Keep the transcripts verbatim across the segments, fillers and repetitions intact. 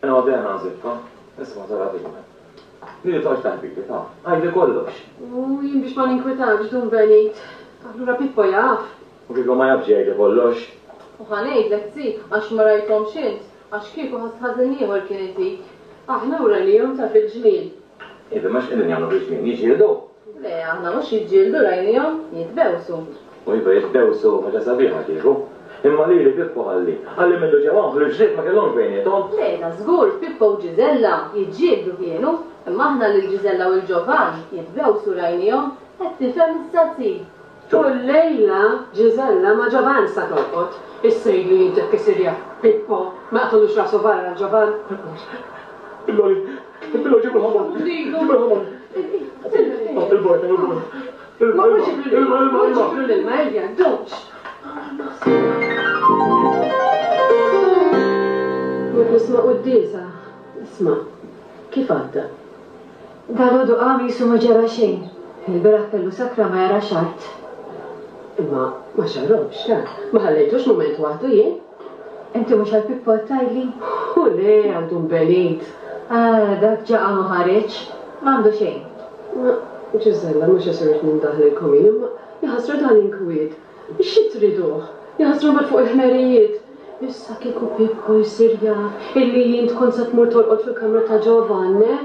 Ena għadena nżiffa, isma tara fil-men. Li toqgħodx taħbik, ta' għajdi kollox. U jien biex ma ninkwetakx Dun Benit. Allura Pippo jaf. U kieku ma jafx jgħidli kollox. U ħa ngħidlek zi, għax ma rajthomx int, għax kieku ħass ħażin ieħor kien itik. Aħna u rajnihom ta' fil-ġnien. Iva, ma x'qegħdin jagħmlu fil-ġnien, jiġġieldu? Le, aħna mhux jiġġieldu rajnihom, jitbewsu. U iva jitbewsu ħaġa sabiħa kieku. Imma lili Pippo ħalli, ħalli mindu ġew hawn ħlief ma kellhomx bejniethom. Le, da żgur Pippo u Ġiżella jiġġieldu kienu, imma aħna lil Ġiżella u l-Ġovan jitbewsu rajnihom, qed tifhem issa zi. U llejla Ġiżella ma' Ġovan sa torqod. Issa jgħidlu jien jekk isir jaf Pippo, ma jaqtgħulux rasu barra l-Ġovan. Billoli, billoli ġibu l-ħamar. Ġibu l-ħamar. Il-bojta, il-bojta. Ma mhux ġiblu l-ilma, ġiblu l-ilma, ejja, dux. Mort nisma' quddiesa. Isma', kif għadda? Dalgħodu qam qisu ma ġara xejn. Il-bieraħ kellu sakra ma jarax art. Imma ma xarrobx, ta? Ma ħallejtux mument waħdu jien? Inti mhux għal Pippo qed tgħidli? U le, għal Dun Benit. Ah, dak ġa qam u ħareġ. M'għandu xejn. Ma, Ġiżella, mhux se rrid nindaħlilkom jien, imma jaħasra dan inkwiet. Xi triduh? Jaħasra mbagħad fuq il-ħmerijiet. Issa kieku Pippo jsir jaf illi jien tkun se tmur torqod fil-kamra ta' Ġovan, eh?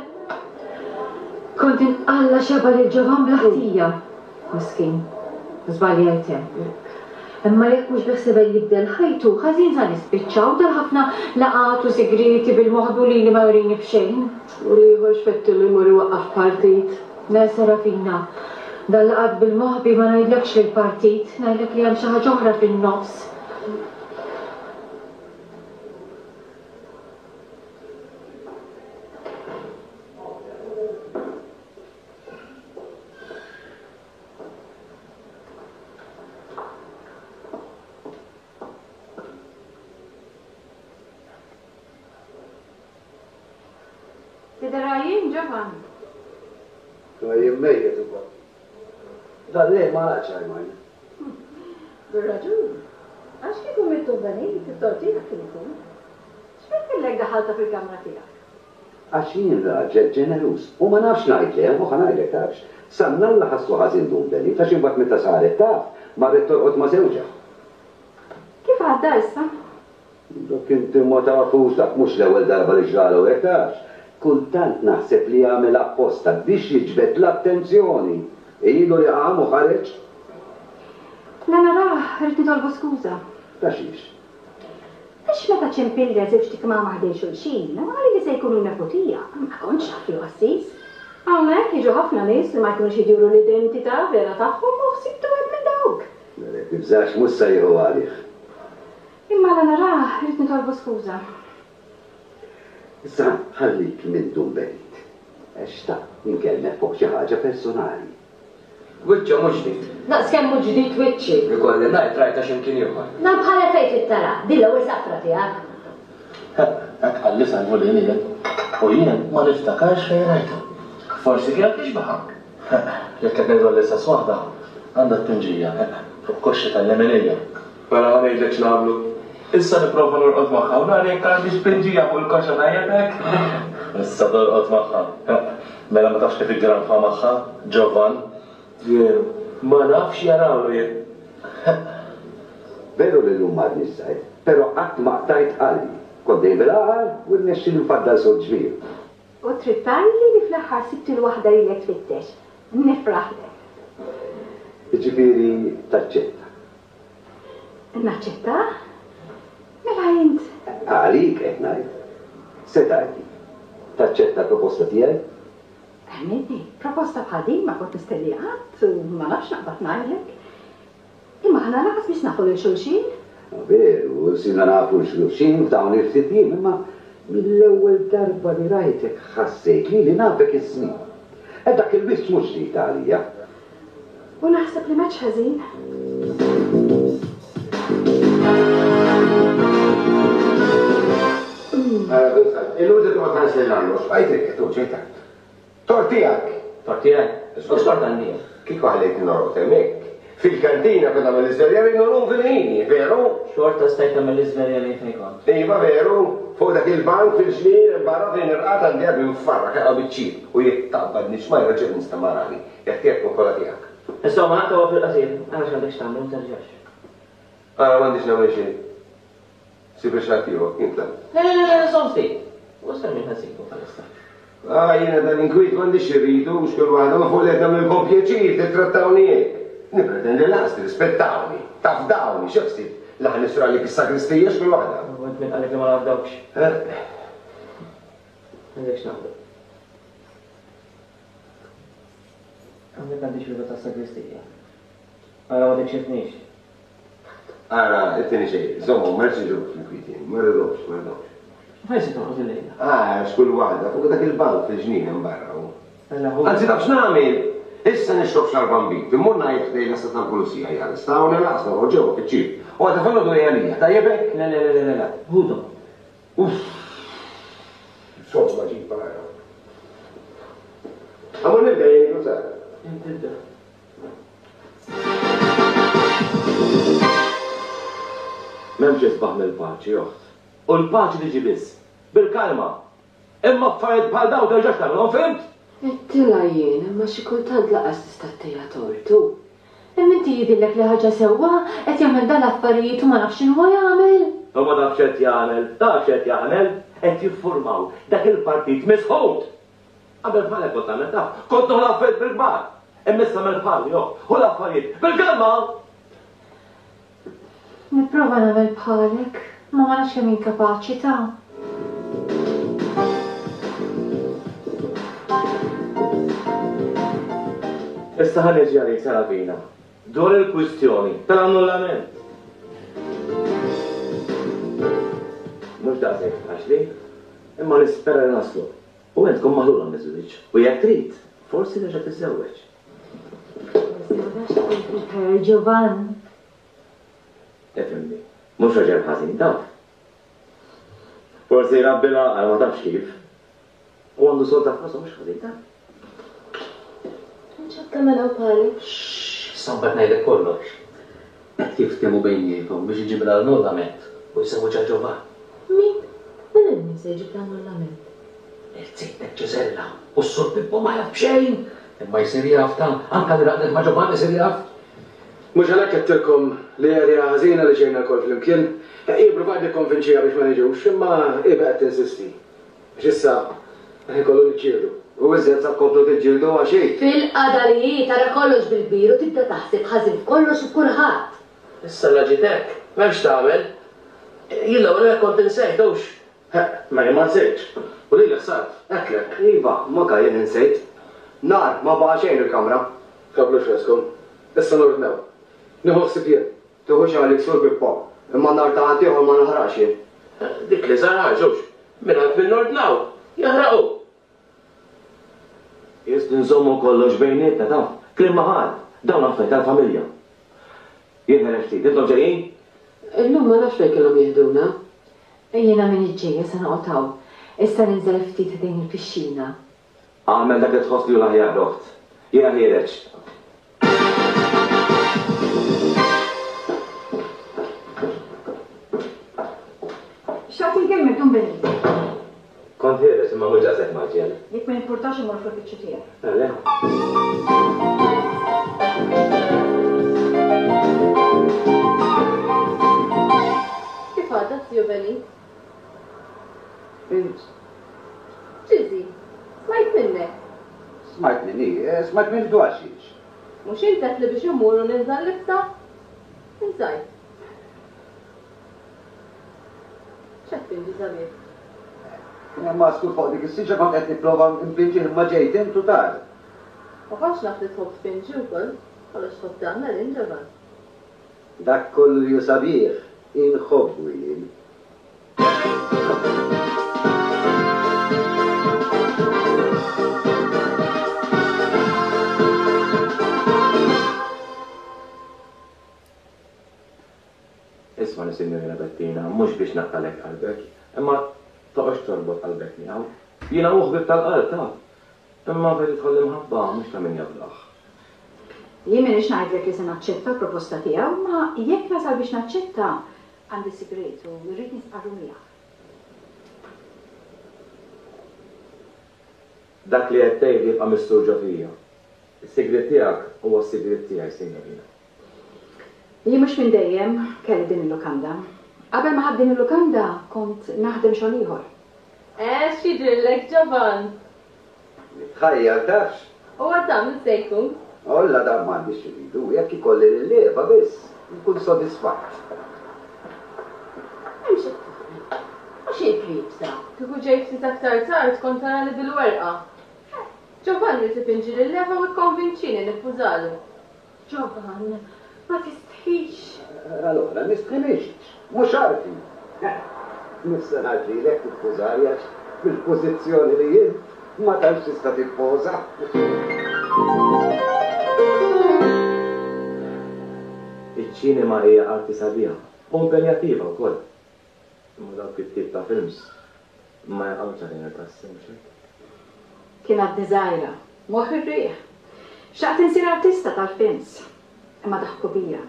Kont inqalla xeba lil Ġovan bla ħtija. Miskin, żbaljajt hemm. Imma jekk mhux beħsiebha jibdel ħajtu, ħażin sa nispiċċaw dal-ħafna laqgħat u sigrieti bil-moħbi u lili ma jurini b'xejn. U l-ieħor x'fettilu jmur iwaqqaf partit? Le, Serafina, dan laqgħat bil-moħbi ma ngħidlekx li l-partit, ngħidlek li hemm xi ħaġa oħra fin-nofs. Tidher għajjien, Ġovan? Għajjien mejjet ukoll. Dan lejl ma raqadx għajmajna. Bir-raġun. Għax kieku mitt Dun Benit, it-tort tiegħek kien ikun. X'fettilek daħalta fil-kamra tiegħek? Għax jien raġel ġeneruż u ma nafx ngħid le, u ħa ngħidlek tafx. Sannalla ħassu ħażin Dun Benit għax imbagħad meta saret taf, marret torqod ma' żewġha. Kif għadda issa? Dak inti ma tafux, dak mhux l-ewwel darba li ġralu hekk tafx. Kultant naħseb li jagħmel apposta biex jiġbed l-attenzjoni. Ilu li qam u ħareġ. La narah, rrid nitolbu skuża. Ta' xiex? Għax meta ċempilli għal żewġ tikmama ħdejn xulxin, għali li se jkunu nepotija, ma kontx naf li qassis. Hawnhekk jiġu ħafna nies li ma jkunux jidhru l-identità vera tagħhom u ħsibtu wieħed minn dawk. Mela tibżax mhux se jieħu għalih. Imma la narah, rrid nitolbu skuża. Issa ħallik minn Dun Benit. Għax xtaqt inkellmek fuq xi ħaġa personali. Wiċċu mhux ġdid. Daqs kemm mhux ġdid wiċċi. Ikolli ngħid rajta x'imkien ieħor. Dan bħala fejn trid tara, din l-ewwel safra tiegħek. Hekk qalli Salvu lili jien. U jien ma niftakarx fejn rajta. Forsi kienet tixbaha. Jekk qed ngħidu għall-istess waħda, għandha t-tinġija fuq koxxi tal-leminija. Mela ħa ngħidlek x'nagħmlu. Issa nipprova norqod magħha u nara jekk għandix pinġija fuq il-koxxa tajjeb hekk. Issa torqod magħha. Mela ma tafx kif iggranfa magħha, Ġovan. Veru, ma nafx jarawlu jien. Veru li llum m'għadniex żgħir, però qatt ma qtajt qalbi. Kont dejjem bil-għaqal u rnexxieli nfaddal sod ġmiel. U trid tgħidli li fl-aħħar sibt il-waħda li lek tfittex. Nifraħlek. Jiġifieri taċċetta. Naċċetta? Mela int. Għalik qed ngħid. Se tgħidli. Taċċetta l-proposta tiegħi? Ħmidni, proposta bħal din ma kont nistenni qatt u ma nafx naqbad ngħidlek. Imma aħna lanqas biex nafu lil xulxin. Veru, sirna nafu xulxin f'dawn il-ftit jiem, imma mill-ewwel darba li rajtek ħassejt li li nafek is-snin. E dak il-wiċċ mhux ġdid għalija. U naħseb li m'għedx ħażin. Illum toqgħod ħares lejn l-arloġġ, għajt tu ġejta. Tort tiegħek. Tort tiegħek? Mhux tort għandi. Kieku ħallejtni norqod hemmhekk, Fil-kantina kont nagħmel l-iżvelja u llum fil-ħini, veru? Xorta stajt tagħmel l-iżvelja li fejn kont. Iva veru, fuq dak il-bank fil-ġnien barra fejn irqad għandi għadu nfarrak jaqgħu biċ-ċip u jekk taqbadni xmajra ġeb nistamarani, jekk tiegħek tkun kollha tiegħek. Insomma, naqtgħu fil-qasir, għax għandek x'tagħmel, ma terġax. Ara m'għandix nagħmel xejn. Sib il-xatt ieħor, intla. Le, le, le, le, żomm ftit. U sa min ħassibu bħalissa. Ah, jiena dan inkwiet m'għandix irridu, mhux kull waħda ma fuq li qed nagħmlilkom pjaċir tittrattawni hekk. Nippretendi lanqas tirrispettawni, tafdawni, xi ħsieb li ħa nisru għalik is-sagristija x'kull waħda. U int min qalek li ma nafdawkx? Għandek x'nagħmlu. Għandek għandi xirba tas-sagristija. Ara ma tikxifnix. Ara, it-tieni xejn, żommu, ma rridx niġu fl-inkwiet jien, ma rridhomx, ma rridhomx. Fejn se toqgħod illejla? Ah, x'kull waħda, fuq dak il-bank fil-ġnien hemm barra hu. Anzi taf x'nagħmel? Issa nixrob xarba nbid, immur ngħid ħdejn l-asta tal-pulizija hija l-sta u nilaqs noħroġ ġewwa fiċ-ċirk. U għadha filgħodu hija għalija, tajjeb hekk? Le, le, le, le, le, ħudhom. Uff! Insomma ġib barra. Għamur nibda jien ikun sar. Inti ibda. M'hemmx isbaħ mill-paċi, oħt. U l-paċi tiġi biss bil-kalma. Imma affarijiet bħal dawn terġax tagħmilhom, fhimt? Għedtilha jien, imma xi kultant laqas tista' ttiha tortu. Imma inti jidhirlek li ħaġa sewwa qed jagħmel dan l-affarijiet u ma nafx x'inhu jagħmel. U ma nafx qed jagħmel, taf x'qed jagħmel, qed jiffurmaw dak il-partit misħut. Qabel bħalek kont tagħmel taf, kont noħol affarijiet bil-kbar. Imma issa mill bħali, joh, u l-affarijiet bil-kalma. Nipprova nagħmel bħalek, ma ma nafx kemm inkapaċi ta'. Issa ħa niġi għalik Serafina, dwar il-kwistjoni tal-annullament. Mhux daqshekk faċli, imma nispera li naslu. U int tkun maħlula miż-żwieġ, u jekk trid, forsi terġa' tiżżewweġ. Ġovan. Ifhimni, mhux raġel ħażin taf. Forsi jrabbi l-għaqal ma tafx kif. U għandu solta f'rasu mhux ħażin taf. X'qed tagħmel hawn bħalek? Issa mbagħad ngħidlek kollox. Qed jiftehmu bejniethom biex iġib l-annullament u jsewwiġha Ġovan. Min? U lil min se jġib l-annullament? Irċejtek Ġiżella u s-sur Pippo ma jaf b'xejn. Imma jsir jaf ta' anke li raqdet ma' Ġovan isir jaf. Mhux għalhekk qedtilkom li idea ħażina li ġejna lkoll flimkien. Jien provajt nikkonvinċiha biex ma niġux, imma hi baqgħet tinsisti. Għax issa qed inkollu niġġieldu. U iżjed sa tkomplu tiġġieldu għax hi. Fil-qada li hi tara kollox bil-kbir u tibda taħseb ħażin f'kollox u f'kulħadd. Issa la ġiet hekk, m'hemmx tagħmel. Jien l-ewwel hekk kont insejt hux. Ma jien ma nsejtx. U lilek sart, għedtlek. Iva, ma jien insejt. Nar, ma baqa' xejn il-kamra. Tħabblux raskom. Issa nordnaw. Nieħu ħsieb jien. Tieħux għalik Sur Pippo, imma nar ta' ħadd ieħor ma naħraqx jien. Dik li żar ħaġa hux. Mingħand min nordnaw, jaħraqu. Jist nżommu kollox bejnietna taf, kliem ma ħadd, dawn affarijiet tal-familja. Jien ħereġ ftit, intom ġejjin? Illum ma nafx fejn kellhom jieħduna. Jiena minn iġġejja se noqgħod hawn. Issa ninżel ftit ħdejn il-pixxina. Agħmel dak li tħoss li hu l-aħjar, oħt. Jiena ħiereġ. Xtaqt inkellmek, Dun Benito. Kont ħiereġ imma mhux daqshekk maġġel. Jekk ma jimpurtax immur fl-uffiċċju tiegħek. Le. Kif għadha, Zio Benny? Int. Ġiżi, smajt minnek. Smajt minni, eh, smajt minni dwar xiex. Mhux int qed li biex immur u ninża' l-libsa? Inżajt. X'qed tinġi sabiħ? Ma skur fuq dik is-siġra kont qed nipprova npinġi imma ġejt int u tar. Ma kontx naf li tħobb tpinġi wkoll, kollox tħobb tagħmel int Ġovan. Dak kollu li hu sabiħ inħobbu jien. Isma' Sinjorina Bettina, mhux biex naqtalek qalbek, imma toqgħodx torbot qalbek miegħu. Jiena hu ħbieb tal-qalb taf. Imma fejn tidħol l-imħabba mhux ta' min jafdah. Jien m'iniex ngħidlek li se naċċetta l-proposta tiegħu, ma jekk nasal biex naċċetta għandi sigriet u rrid nistqarru miegħek. Dak li qed tgħid jibqa' mistur ġo fija. Is-sigriet tiegħek huwa s-sigriet tiegħi, signorina. Jien mhux minn dejjem kelli din il-lukanda. Qabel ma ħadt din il-lukanda kont naħdem xogħol ieħor. Eh, x'jidhirlek Ġovan? Nitħajjar tafx. U għadam min se jkun? Olla dan m'għandix xi jekk ikolli lil Eva biss, nkun sodisfatt. Hemm xi tagħmel. U xi libsa? Kieku ġejt ftit aktar tard kont tara li bil-werqa. Ġovan rid ipinġi lil Eva u kkonvinċini niffużalu. Ġovan, ma tistħix. Allora, nistħi mhix, mhux arti. Mhux se ngħaġġilek tiffużali għax fil-pożizzjoni li int ma tantx tista' tiffoża. Iċ-ċinema hija arti sabiħa u impenjattiva wkoll. Imma dawk it-tip ta' films ma jaqgħux għalina tassew mhux hekk. Kien għadni żgħira, moħħ ir-riħ. Xtaqt insir artista tal-films, imma daħku bija.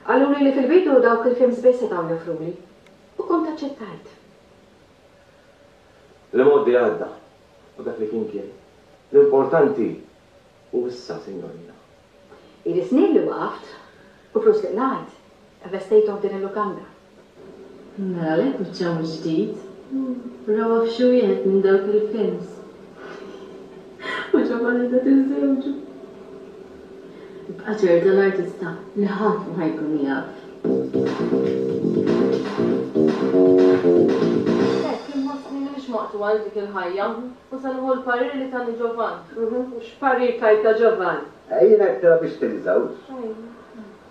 Qaluli li fil-bidu dawk il-films biss setgħu joffruli u kont aċċettajt. L-imgħoddi għadda u dak li kien kien. L-importanti hu issa, signorina. Ili snin li waqaft u flus li qlajt, investejthom f'din il-lukanda. Mela għalhekk wiċċha mhux ġdid. Rawa f'xi wieħed minn dawk il-films. U Ġovan qiegħda tiżżewġu. Ibqa' ċerta l-artista li ħadd ma ħajkun jaf. Hekk inħossni m'iniex maqtugħa għal dik il-ħajja u se nieħu l-parir li tani Ġovan. U x'parir tajta Ġovan? Jien għedtilha biex tinżawx.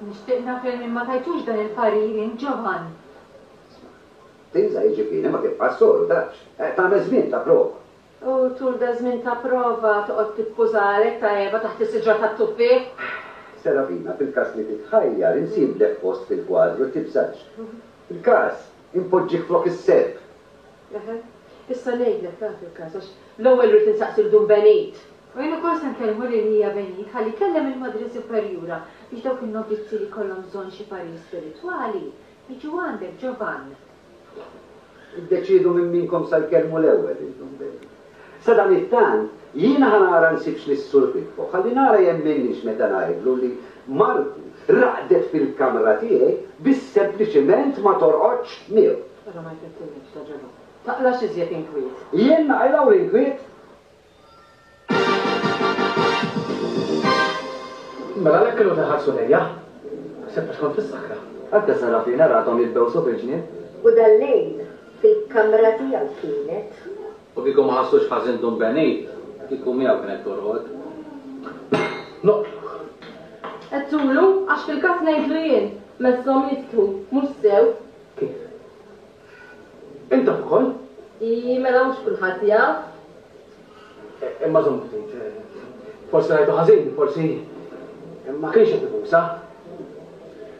Nixtieq naf lil min ma tajtux dan il-parir int Ġovan. Tinża jiġifieri ma tibqax soru tafx. Tagħmel żmien ta' prova. U tul da żmien ta' prova toqgħod tippużalek ta' Eva taħt is-siġra tat-tuffieħ? Serafina, fil-każ li titħajjar insiblek post fil-kwadru tibżax. Fil-każ impoġġik flok is-serp. Eħe, issa ngħidlek ta' fil-każ għax l-ewwel rrid insaqsi l Dun Benit. U jien ukoll se nkellmu lil Hija Benit ħalli jkellem il-Madre Superjura biex dawk in-novizzi li jkollhom bżonn xi parir spiritwali jiġu għandek Ġovan. Iddeċiedu minn minkom sa jkellmu l-ewwel lil Dun Benit. Sadanittant, jiena ħa nara nsibx lis-Sur Pippo, ħalli nara jemminniex meta ngħidlu li martu raqdet fil-kamra tiegħi biex sempliċement ma torqodx miegħu. Ara ma jfettilekx ta' Ġovan. Taqlax iżjed inkwiet. Jien naqilgħu l-inkwiet? Mela għalhekk kienu teħarsu lejja. Ħsibt għax kont fis-sakra. Anke Serafina rathom jitbewsu fil-ġnien. U dal-lejl fil-kamra tiegħu kienet. U kieku ma ħassux ħażin Dun Benit, kieku miegħu kienet torqod. Noqtlu. Għedtulu, għax fil-każ ngħidlu jien, messhom jistħu, mhux sew. Kif? Int taf ukoll? I, mela mhux kulħadd jaf. Imma żomm ftit. Forsi rajtu ħażin, forsi ma kienx qed ibusa.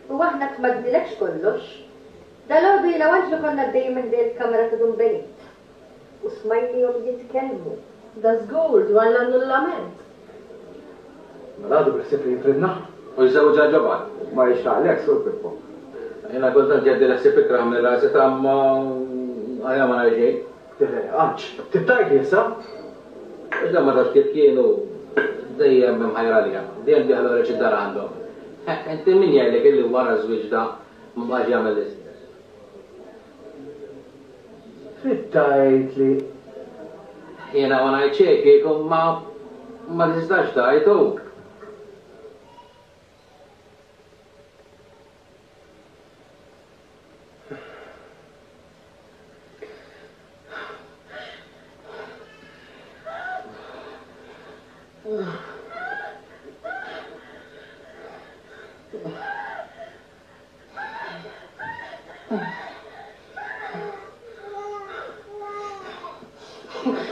U aħna tmaddilekx kollox. Dalgħodu jiena u Anġlu konna għaddejjin minn ħdejn il-kamra ta' Dun Benit. U smajnihom jitkellmu. Da żgur dwar l-annullament. Mela għadu bil-ħsieb li jifridna. U jżewġha Ġovan. Ma jixtaqlek, Sur Pippo. Jiena kultant jgħaddi l-ħsieb ikrah minn rasi ta' ma għalja ma ngħid xejn. Le, Anġ, tibtajli issa? Għax dan ma tafx kif kienu dejjem imħajra għalija, dejjem dieħla ħoreġ id-dar għandhom. Inti min jgħidlek illi wara ż-żwieġ da ma baqax jagħmel l-istess? Trid tgħid li Jiena ma ngħid xejn kieku ma ma tistax tgħid hu.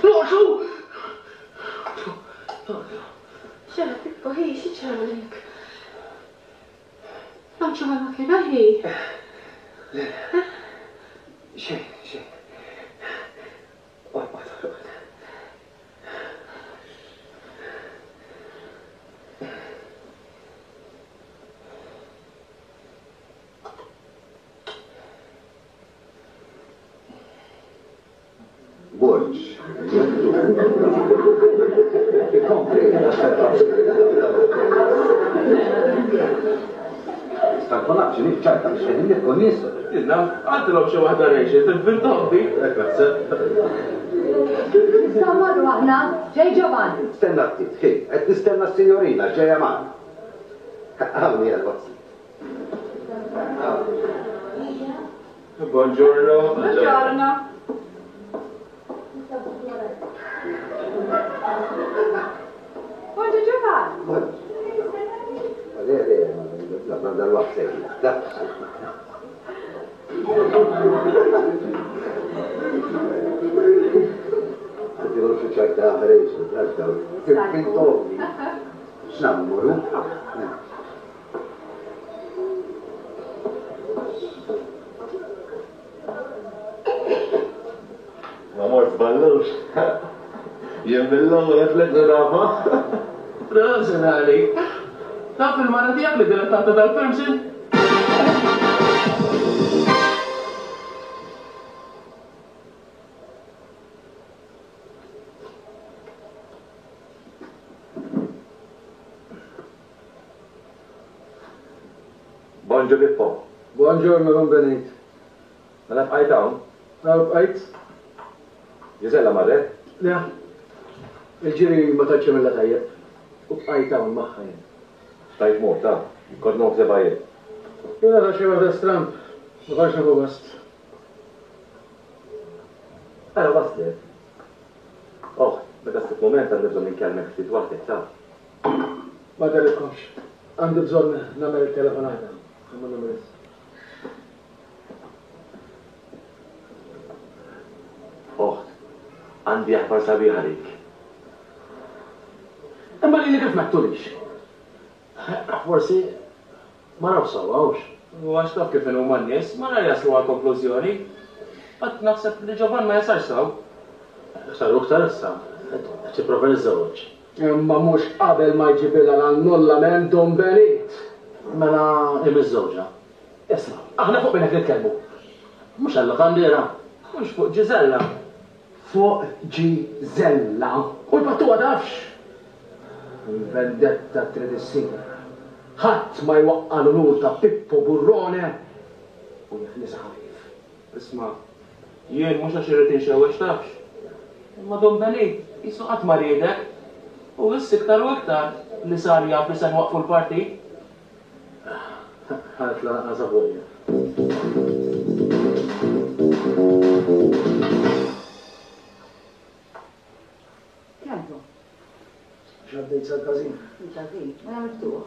Noqsu! Xena Pippo, hi, xi ġralek? Anċu ma kien aħi. Le, xejn, xejn. Orqod, orqod. Borġ. Ikompli. Stanko naf x'inhi ċajta biex qegħdin nibku nies. Inna, għandilhom xi waħda Rachel, tinvintom dik. Nistgħu mmorru aħna, ġej Ġovan. Stenna ftit, ħi, qed nistenna s-sinjorina ġejja magħna. Hawn hija l-wasla. Buongiorno. Buongiorno. Buongiorno Ġovan. Le, le, ma dal-waqt sejna. Għaddi xi ċajta Rachel, ċajta. Tinvintom. X'nagħmlu morru? Ma mort ballux. Jien mill-ewwel qed lek narafa. Prosit għalik. Taf il-mara tiegħek li dilettanta dal-films? Bonġu Pippo. Buongiorno, Don Benit. Mela bqajt hawn? Hawn bqajt. Gisella marret? Le. Il-ġiri ma tantx għamilha tajjeb. U bqajt hawn magħha jien. Stajt mort, ta' kont noħseb jien. Jiena ta' xi waħda stramb, ma kontx nieħu gost. Ara waslet. Oh, meta ssib mument għandi bżonn inkellmek ftit waħdek, taf. Ma tellifkomx. Għandi bżonn nagħmel telefonata. Imma nagħmel issa. Oħt, għandi aħbar sabiħa għalik. Imma lili kif ma ttulix? Forsi ma nafx sewwa hux. U għax taf kif inhuma n-nies, ma nar jaslu għal konklużjoni. Qatt naħseb li Ġovan ma jasalx sew. Iktar u iktar issa, qed jipprova jiżżewweġ. Imma mhux qabel ma jġibilha l-annullament Don Benit. Mela hi miżżewġa. Isma', aħna fuq min qed nitkellmu. Mhux għal-lokandiera. Mhux fuq Ġiżella. Fuq Ġiżella. U l-pattuwa tafx. Il-vendetta trid issir. Ħadd ma jwaqqa' l-unur ta' Pippo Burrone u jeħlisha ħafif. Isma', jien mhux għax irrid inxewwex tafx. Imma Don Benit qisu qatt ma riedek. U issa iktar u iktar li sar jaf li se nwaqfu l-partit. Ħadd lanqas avolja. Kemm hu? X'għaddejt sal-każin? Il-każin, mela miftuħ.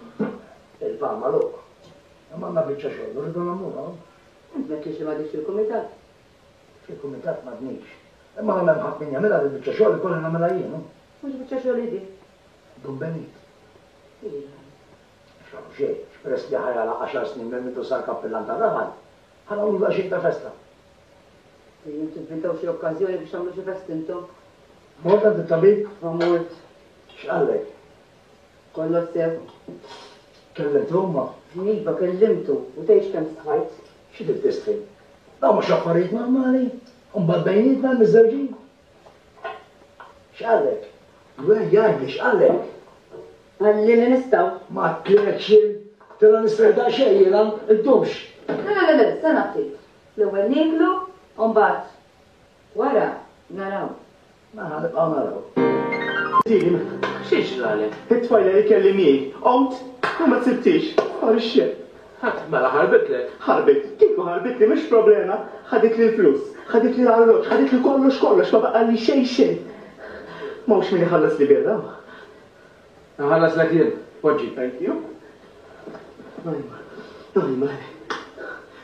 Il-pan magħluq. Imma għandna biċċa xogħol, rridu nagħmluha. Int m'għedtlix li m'għadix fil-kumitat. Fil-kumitat m'għadnix. Imma la m'hemm ħadd min jagħmilha din biċċa xogħol ikolli nagħmilha jien. Mhux biċċa xogħol idi. Dun Benit. Iva. Xogħol xejn, peress li ħajala għaxar snin minn mindu sar kappillan tar-raħal, ħa nagħmlu daqsxejn ta' festa. Dejjem tivvintaw xi okkażjoni biex tagħmlu xi festa intom. Mort għand it-tabib? Ma mort. X'qallek? Kollox sew. Kellimtu imma? Iva, kellimtu u tgħidx kemm stħajt. Xi trid tistħi? Dawn mhux affarijiet normali, u mbagħad bejnietna miżżewġin. X'qallek? Gwen jgħidli x'qallek? Qalli li nistgħu. Ma tlekx jien, tela nistrieħ daqsxejn jiena, iddumx. Le, le, le, le, stenna ftit. L-ewwel nieklu u mbagħad wara naraw. Mela nibqgħu naraw. Tim, xi ġralek? It-tfajla li kelli miegħi, qomt u ma tsibtix, far ix-xejn. Ħadd mela ħarbitlek. Ħarbit, kieku ħarbitli mhux problema, ħaditli l-flus, ħaditli l-arloġġ, ħaditli kollox kollox, ma baqalli xejn xejn. M'hawnx min iħallas li birra. Nħallas lek jien, poġġi. Thank you. Ajma, ajma.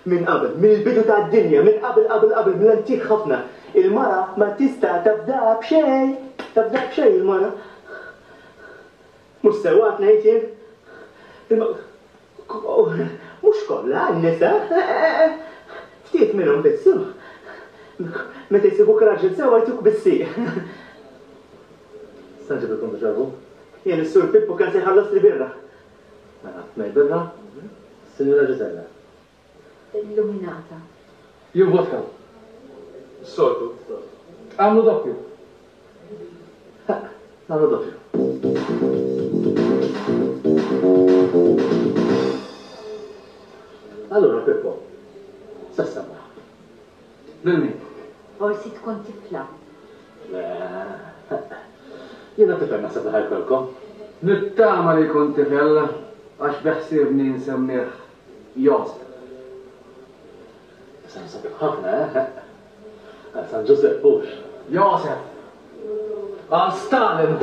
Minn qabel, mill-bidu tad-dinja, minn qabel qabel qabel, mill-antik ħafna. Il-mara ma tista' tafda b'xejn, tafda b'xejn il-mara. Mhux sewwa qed ngħid jien. Imma mhux kollha n-nisa. Ftit minnhom biss. Meta jsibuk raġel sewwa jtuk bis-sieq. Sa nġibilkom biex għabu? Jien is-Sur Pippo kien se jħallas li birra. Mela, tnej birra, Sinjura Ġiżella. Illuminata. Jien vodka. Soltu. Għamlu doppju. Għamlu doppju. Allura, Pippo, sa ssemmaħ. Lil min? Forsi tkun tifla. Le, jiena tifel naħseb li ħajkolkom. Nittama li jkun tifel għax beħsiebni nsemmih Josef. Isem sabiħ ħafna, eh? Għal San Ġużepp hux. Josef! Għal Stalin!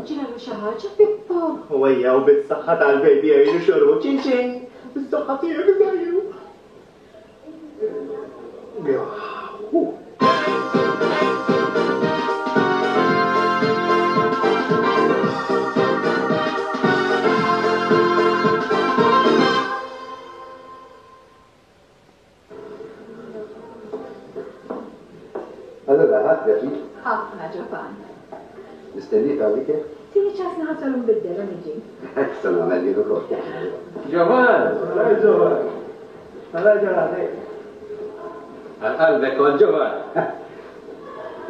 Ġralu xi ħaġa, Pippo? U ejjew bis-saħħa tal-baby ejju xorbu ċin ċin. Bis-saħħa tiegħek żgħiru. Allora, ħadd pjaċir? Ħafna, Ġovan. Nistennik għalik? Tini ċans naħasol nbiddel u niġi. Hekk se nagħmel jien ukoll. Ġovan! Ġovan! Ġovan! Għal qalbek kont Ġovan.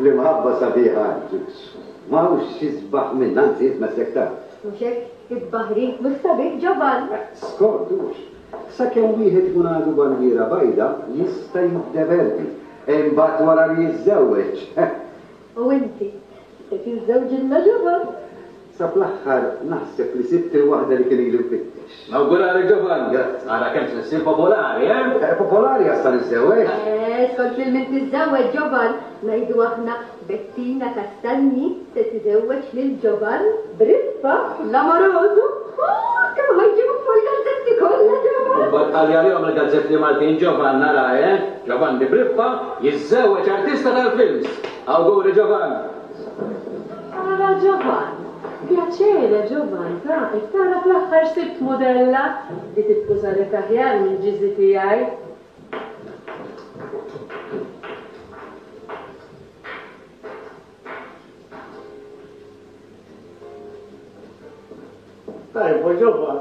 L-imħabba sabiħa, ġux. Ma hux xi sbaħ minn anzi jitmessek ta'. Mhux hekk, it-tbaħrik mhux sabiħ, Ġovan. Skont hux. Sakemm wieħed ikun għadu bandiera bajda jista' jiddeverti. Imbagħad wara li jiżżewweġ. U inti, se tiżżewġilna Ġovan? Sa fl-aħħar naħseb li sibt il-waħda li kien ilu nfittex. Nawguralek Ġovan. Grazzi. Ara kemm se ssir popolari, eh? Eh, Popolari għas sa niżżewweġ. Eh, skont lil min tiżżewweġ Ġovan, ngħidu aħna Bettina Castagni se tiżewweġ lil Ġovan Briffa l-amoroso. Oh, kemm ħajġibu fuq il-gazzetti kollha Ġovan. U battalja lihom il-gazzetti Maltin Ġovan nara, eh? Ġovan di Briffa jiżżewweġ artista tal-films. Awguri Ġovan. Ara Ġovan. Piacere, Ġovan, ta' tara fl-aħħar sibt modella li titkużalek aħjar minn ġiżi tiegħi. Tajbu, Ġovan.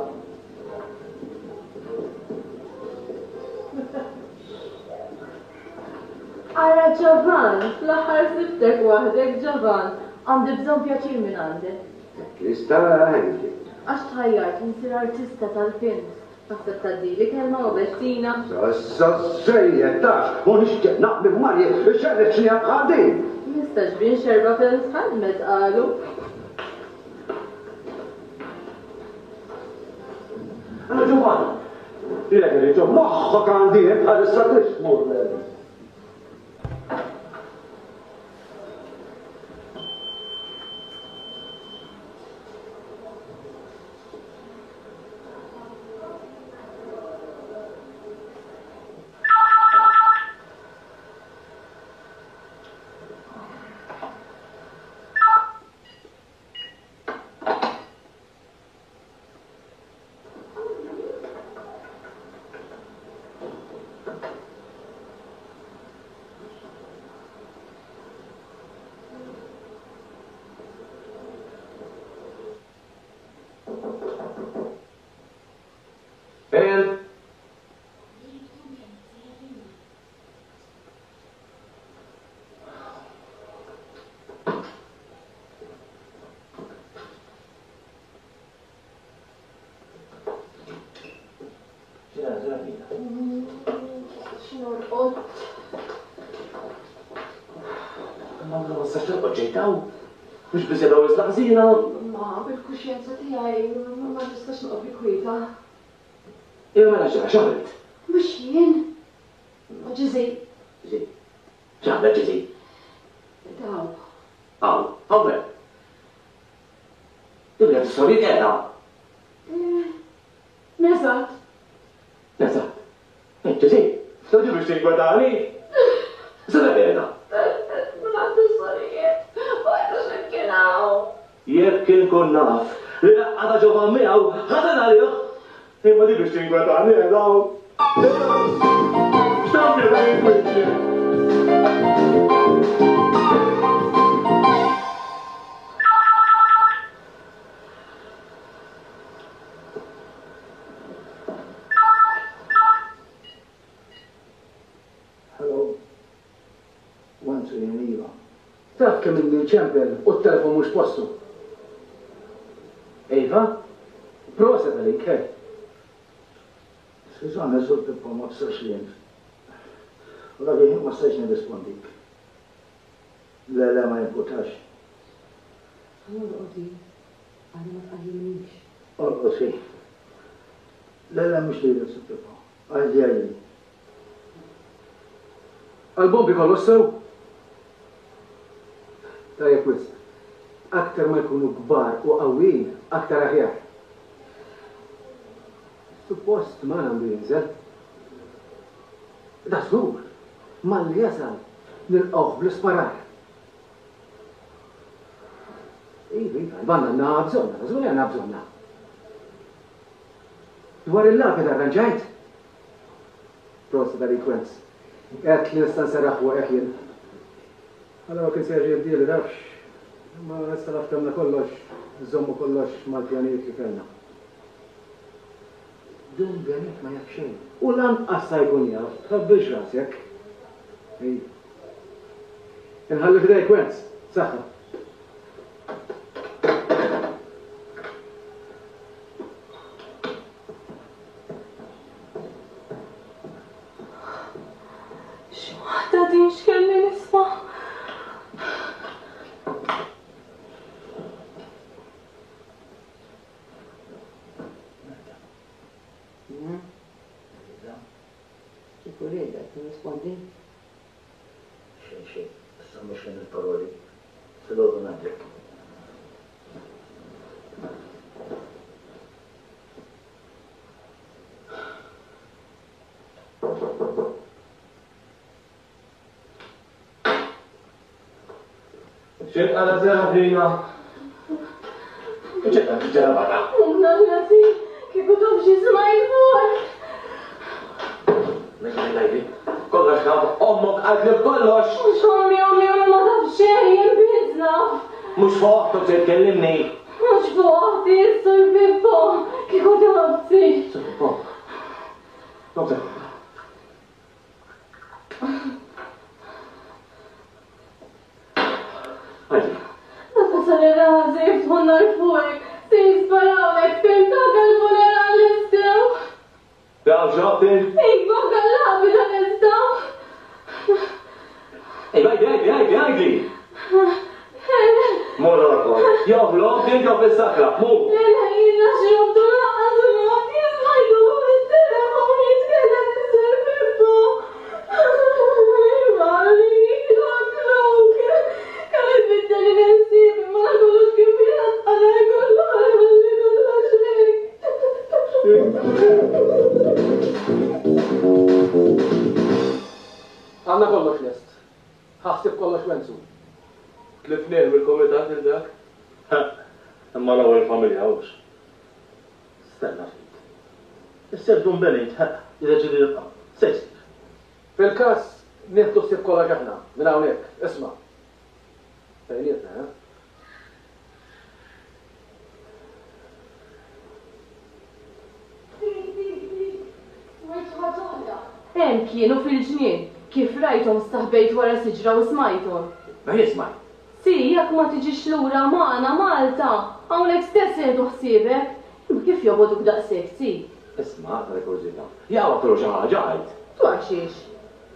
Ara Ġovan, fl-aħħar sibtek waħdek Ġovan. Għandi bżonn pjaċir minn għandek. Krista, għandi. Għax tħajjart insir artista tal-films. Taħseb tgħaddili kelma u Bettina. Sa sejjed tax, u nixtieq naqmi Marja xerret xnija bħal din. Mistax bin xerba films ħadmet qalu. Allora Ġovan, lilek irrid Ġovan. Moħħok għandi bħalissa tixmur. Ben? X'norqod? Ma ma nistax torqod ġejtaw. Mhux biżejjed hawn iżda ħażina. Ma bil-kuxjenza tiegħi ma nistax noqgħod bi kwieta. Ejja mela x'għamilt? X'għamilt? Mhux jien. Ma ġiżi. Ġiżi. X'għamlet ġiżi? Daw. Hawn, hawn hemm. Tibda tissorri qiegħda. Neżat. Neżat. Ġiżi, tgħidi biex tinkwetani. Sena qiegħda. Ma għandu sorijiet. Ma għandu x'imkien hawn. Jekk inkun naf li laqqata Ġovan miegħu ħażen għalih. Imma di biex tinkwetani qiegħda hawn. X'tagħmel dan il-kwiċċ? Hello. Hello. Wenzu jien iva. Taf kemm inni nċempel u t-telefon mhux postu. Iva? Proset għalik, hej. Skużani, Sur Pippo, ma bsirx li int. U dak il-ħin ma stajtx nirrispondik. Le, le, ma jimpurtax. Orqod hi. Għada ma tqajjimnix. Orqod hi. Le, le, mhux lilek, Sur Pippo. Għidli, għidli. Għall-bombi kollox sew? Tajjeb wisq. Aktar ma jkunu kbar u qawwijin, aktar aħjar. Suppost magħna għandu jinżel. Da żgur, malli jasal nilqgħuh bl-isparar. Iva, iva, l-banda għandna bżonnha, da żgur li għandna bżonnha. Dwar il-lapid arranġajt? Prosit għalik Wenz. Għedt li nista' nserraħ fuqek jien. Allura kien se jerġa' jibdieli tafx. Imma issa la ftemna kollox, nżommu kollox mal-pjanijiet li kellna. Dun Benit ma jaf xejn. U lanqas sa jkun jaf, tħabbilx rasek. Ejja. Inħalli f'idejk Wenz. Saħħa. X'waħda din x'kelli nisma'. Kieku riedek tirrispondi. Xejn xejn, issa mhux ħin il-paroli. Filgħodu ngħidlek. X'inqala Serafina? Ġetta ġara barra. Umna l-għazi, kieku taf xi smajt fuq. Kollox naf, ommok qaltli b'kollox. Mhux ommi, ommi, ommi ma taf xejn, jien biss naf. Mhux fuq oħtok se tkellimni. Mhux fuq oħti, Sur Pippo, kieku tafsi. Sur Pippo. Doktor. Għajdi. Meta sar ir-raħal se jiftħu n-nar fuqek, se jisparawlek, fim dak il-funeral l-istew. Daw xorti? Iva, kallabi dan istaw. Ej, għajdi, għajdi, għajdi, għajdi. Mur orqod. Jew flok, jew fis-sakra, mur. Le, le, jiena xrobtu lanqas u naf, jismajtu fuq it-telefon jitkellem is-Sur Pippo. Iva, li joklok. Kemm ibiddel il-ħsieb, imma dak kollox kif jgħaqqal kollu ħalli kollox hekk. Għandna kollox lest. Ħassib kollox Wenzu. Tlifnieh mill-kumitat lil dak? Imma l-ewwel familja hux. Stenna ftit. Issa jekk Dun Benit jiddeċiedi jibqa', se jsir? Fil-każ nieħdu ħsieb kollox aħna minn hawnhekk. Isma'. Bejnietna, eh? Hemm kienu fil-ġnien, kif rajthom staħbejt wara siġra u smajthom. Ma jismaj. Si, jekk ma tiġix lura magħna Malta, hawnhekk stess nieħdu ħsiebek. Imma kif jobogħduk daqshekk, si? Isma' tal-kurżità. Jaqgħu għatru xi ħaġa għid. Dwar xiex?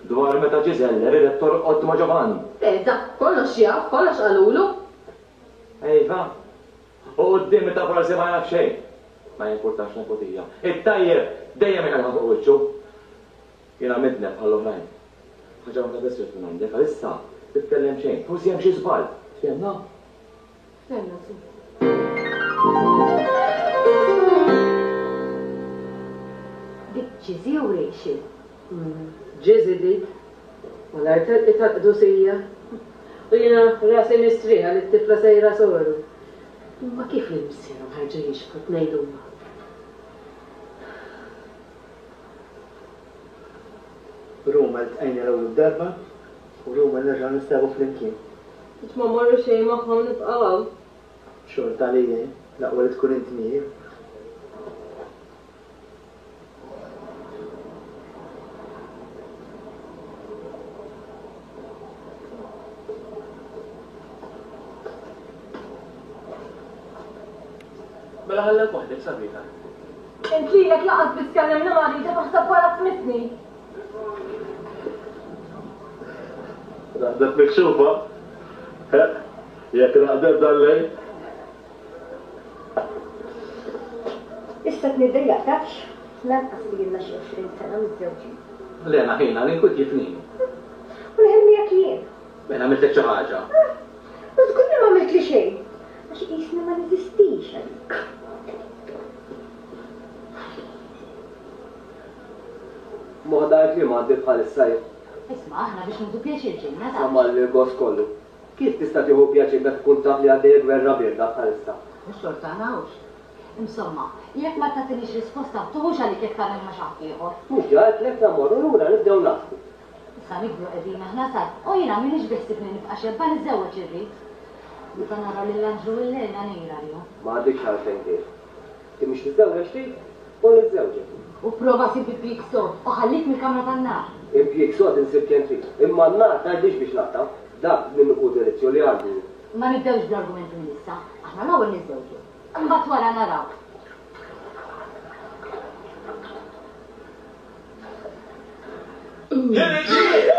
Dwar meta Ġiżelle ridet torqod ma' Ġovann. Eh, dak kollox jaf, kollox qalulu. Iva. U quddiem ta' forsi ma jaf xejn. Ma jimpurtax nepotija. It-tajjeb dejjem iqalha fuq wiċċu. Jiena midneb bħall-oħrajn. Ħaġa waħda biss trid minn għandek għalissa titkellem xejn. Forsi hemm xi żball. Fehmna? Fehmna, si. Dik Ġiżi jew Rachel? Ġiżi dik. U l-art telqi tal-qdusija. U jiena rasi mistrieħa li t-tifla sejra soru. Imma kif lil missierhom ħarġu jixbħu tnejn huma? Ruma ltqajna l-ewwel darba u Ruma nerġgħu nistabu flimkien. Biex ma mmorru xejn magħhom nibqgħu hawn. Xorta għalija jien, l-aqwa li tkun int miegħi. U jaħallek waħdek sabiħa. Int lilek laqas biss kellimni ma rridek taħseb wara tmissni. Raqdet mikxufa. Jekk raqdet dal-lejl. Issa tniddejjaq tafx, lanqas li ilna xi għoxrin sena miżżewġin. Lena ħina l-inkwiet jifnini. U l-ħin miegħek jien. Mela għamiltlek xi ħaġa. U żgur li ma għamiltli xejn. Għax qisni ma neżistix għalik. Moħda li m'għandi bħalissa jien. Isma' aħna biex nieħdu pjaċir ġejna taf. Sama l-gost kollu. Kif tista' tieħu pjaċir meta tkun taf li għaddejja gwerra bierda bħalissa? Mhux xorta hawnx. Insomma, jekk ma tagħtinix risposta, tuħux għalik jekk tagħmel ma' xi ħadd ieħor. Mhux ġa għedtlek la mmorru lura nibdew naħsbu. Issa nikbru qegħdin aħna sar, u jiena m'iniex biħsibni nibqa' xebba niżżewweġ irrid. Meta nara lil Anġlu u l-Lena ngħir għalihom. Ma għandikx għalfejn tgħir. Inti mhux tiżżewweġ trid u niżżewġek. U prova sib impjieg sod u ħallik mill-kamra tan-nar. Impjieg sod insib kemm trid, imma n-nar tgħidlix biex naqta'. Dak minnu hu delizzju li għandi. Ma nibdewx bl-argumenti minn issa. Aħna l-ewwel niżżewġu. Imbagħad wara naraw. Irġiel!